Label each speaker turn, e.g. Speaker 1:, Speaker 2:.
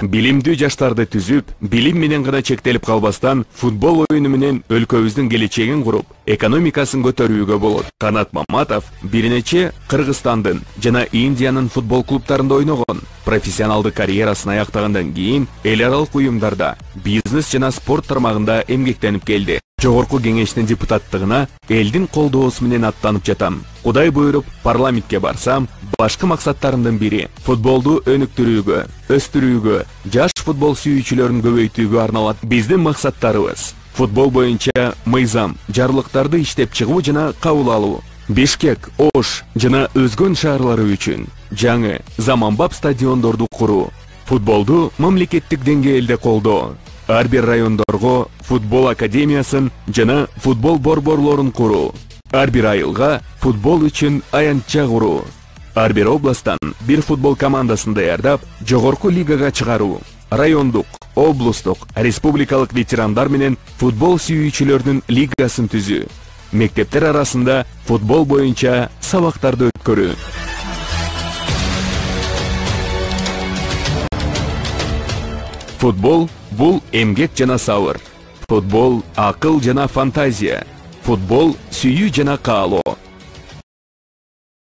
Speaker 1: Билимдүү жаштарды түзүп, билим менен гана чектелип калбастан, футбол оюну менен өлкөбүздүн келечегин куруп, экономикасын көтөрүүгө болот. Канат Маматов бир нече Кыргызстандын жана Индиянын футбол клубтарында ойногон. Профессионалдык карьерасын аяктагандан кийин эл аралык уюмдарда, бизнес жана спорт тармагында эмгектенип келди. Жогорку кеңештин депутаттыгына элдин колдоосу менен аттанып жатам. Кудай буйруп, парламентке барсам, башкы максаттарымдын бири футболду өнүктүрүүгө, өстүрүүгө, жаш футбол сүйүүчүлөрүн көбөйтүүгө арналат. Биздин максаттарыбыз футбол боюнча мыйзам, жарлыктарды иштеп чыгуу жана кабыл алуу. Бишкек, Ош жана өзгөн шаарлары үчүн жаңы, заманбап стадиондорду куруу. Футболду мамлекеттик деңгээлде колдоо. Ар бир райондорго футбол академиясын жана футбол борборлорун куруу. Ар бир айылга футбол үчүн аянтча куруу. Ар бир областтан бир футбол командасын даярдап, жогорку лигага чыгаруу. Райондук, облустук, республикалык ветерандар менен футбол сүйүүчүлөрдүн лигасын түзүү. Мектептер арасында футбол боюнча сабактарды өткөрүү. Футбол бул эмгек жана сабыр. Футбол акыл жана фантазия. Футбол сүйүү жана каалоо.